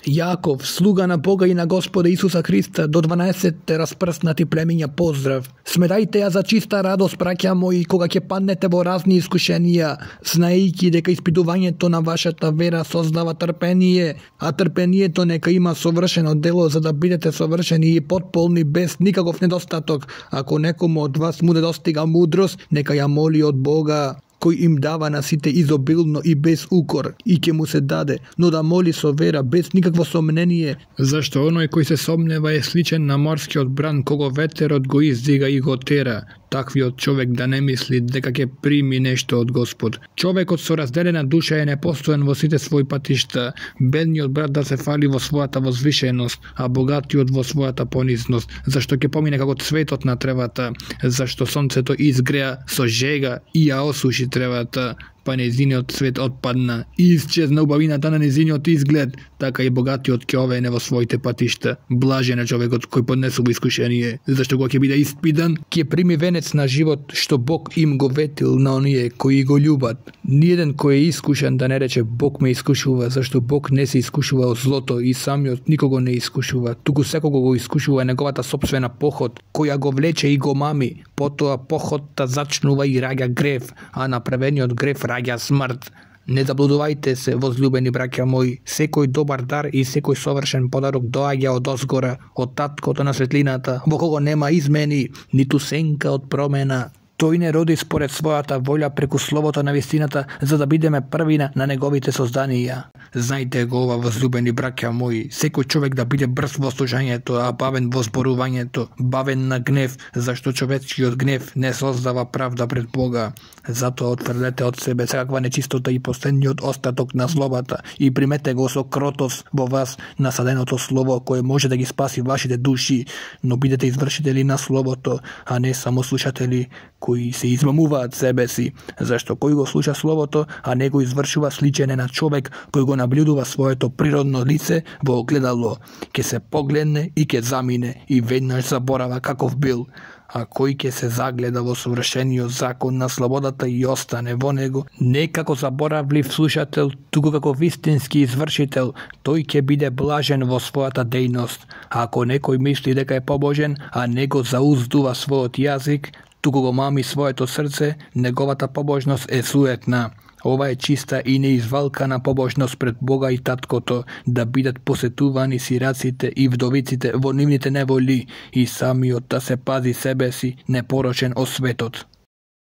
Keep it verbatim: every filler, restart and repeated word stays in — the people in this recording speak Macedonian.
Јаков, слуга на Бога и на Господа Исуса Христа, до дванаесетте распрснати племиња поздрав. Сметајте ја за чиста радост, браќа мои, кога ќе паднете во разни искушенија, знаејќи дека испитувањето на вашата вера создава трпение, а трпението нека има совршено дело, за да бидете совршени и потполни без никаков недостаток. Ако некому од вас му недостига мудрост, нека ја моли од Бога, кој им дава на сите изобилно и без укор, и ќе му се даде, но да моли со вера, без никакво сомнение, зашто оној кој се сомнева е сличен на морскиот бран, кого ветерот го издига и го тера. Таквиот човек да не мисли дека ќе прими нешто од Господ. Човекот со разделена душа е непостоен во сите своји патишта, бедниот брат да се фали во својата возвишеност, а богатиот во својата понизност, зашто ќе помине како цветот на тревата, зашто сонцето изгреа со жега и ја осуши тревата, па незиниот цвет отпадна и исчезна убавината на незиниот изглед, така и богатиот ќе овене во своите патишта. Блажен е човекот кој поднесува искушение, зашто кога ќе биде испитан, ќе прими венец на живот што Бог им го ветил на оние кои го љубат. Ниеден кој е искушен да не рече Бог ме искушува, зашто Бог не се искушува од злото и самиот никого не искушува, туку секого го искушува неговата сопствена поход, која го влече и го мами. Потоа похотта зачнува и раѓа грев, а направениот грев раѓа смрт. Не заблудувајте се, возлюбени браќа мои, секој добар дар и секој совршен подарок доаѓа од озгора, од таткото на светлината, во кого нема измени, ниту сенка од промена. Тој не роди според својата волја преку словото на вистината, за да бидеме првина на неговите созданија. Знајте го ова, возлюбени браќа мои, секој човек да биде брз во слушањето, а бавен во зборувањето, бавен на гнев, зашто човечкиот гнев не создава правда пред Бога. Затоа отфрлете од себе секаква нечистота и последниот остаток на злобата и примете го со кротост во вас насаденото слово кое може да ги спаси вашите души, но бидете извршители на словото, а не само слушатели кои се измамуваат себе си, зашто кој го слуша словото, а не го извршува, сличен е на човек кој го наблюдува своето природно лице во огледало, ќе се погледне и ќе замине и веднаш заборава каков бил. А кој ќе се загледа во совршениот закон на слободата и остане во него, не како заборавлив слушател, туку како вистински извршител, тој ќе биде блажен во својата дејност. А ако некој мисли дека е побожен, а не го зауздува својот јазик, туку го мами своето срце, неговата побожност е суетна. Ова е чиста и неизвалкана побожност пред Бога и Таткото, да бидат посетувани сираците и вдовиците во нивните неволи и самиот да се пази себе си непорочен од светот.